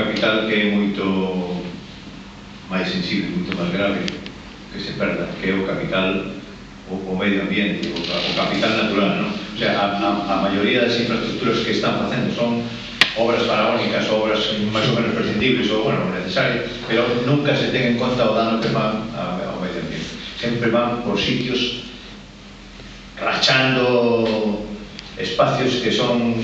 capital que é moito máis sensible, moito máis grave que se perda, que é o capital, o medio ambiente, o capital natural, non? O sea, a maioría das infraestructuras que están facendo son obras faraónicas, obras máis ou menos prescindibles ou, bueno, necesarias, pero nunca se ten en conta o dano que van ao medio ambiente. Sempre van por sitios rachando espacios que son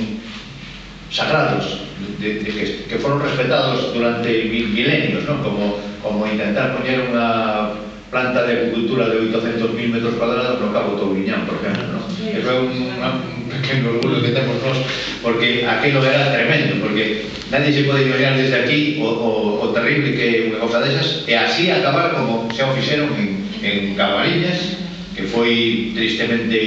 sagrados, que foron respetados durante milenios, ¿no? Como intentar poñer unha planta de agricultura de 800.000 metros cuadrados no Cabo Touriñán, por exemplo, ¿no? Que foi un pequeno orgullo que temos nós, porque aquilo era tremendo, porque nadie se pode imaginar desde aquí o terrible que unha cosa desas, e así acabar como xa o fixeron en Camariñas, que foi tristemente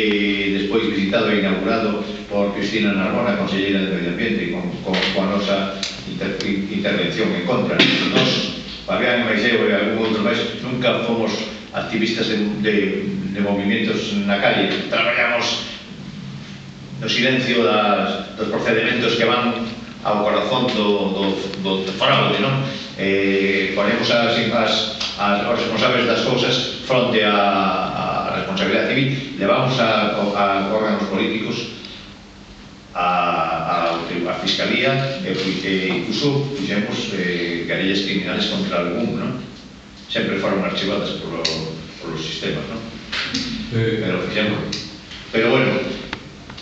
despois visitado e inaugurado por Cristina Narbona, conselleira de Medio Ambiente, con a nosa intervención en contra. Nos, Fabián, Maiseo e algún outro máis, nunca fomos activistas de movimientos na calle. Traballamos no silencio dos procedimentos que van ao corazón do fraude, non? Ponemos os responsables das cousas fronte a responsabilidade civil, levamos a órganos políticos a Fiscalía e incluso fixemos querellas criminales contra algún, non? Sempre foron archivadas polos sistemas, non? Pero fixemos. Pero bueno,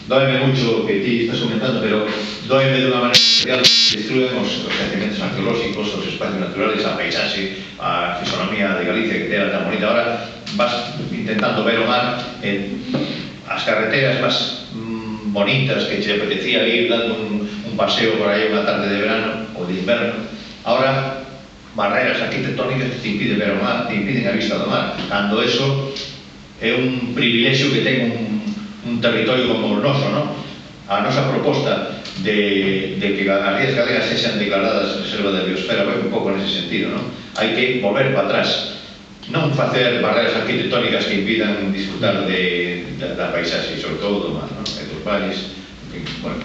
doeme mucho que ti estás comentando, pero doeme de unha manera especial que destruen os yacimientos arqueolóxicos, os espacios naturales, a paisaxe, a fisonomía de Galicia que era tan bonita. Ahora vas intentando ver o mar, as carreteras máis bonitas que te apetecía ir dando un paseo por aí unha tarde de verano ou de inverno. Ahora, barreras arquitectónicas que te impiden ver o mar, te impiden a vista do mar, cando eso é un privilexio que ten un territorio como o noso, non? A nosa proposta de que as rías galegas sexan declaradas reserva de biosfera vai un pouco nese sentido, non? Hai que volver para atrás, non facer barreras arquitectónicas que impidan disfrutar da paisaxe, sobre todo do mar, non? E dos valles, bueno,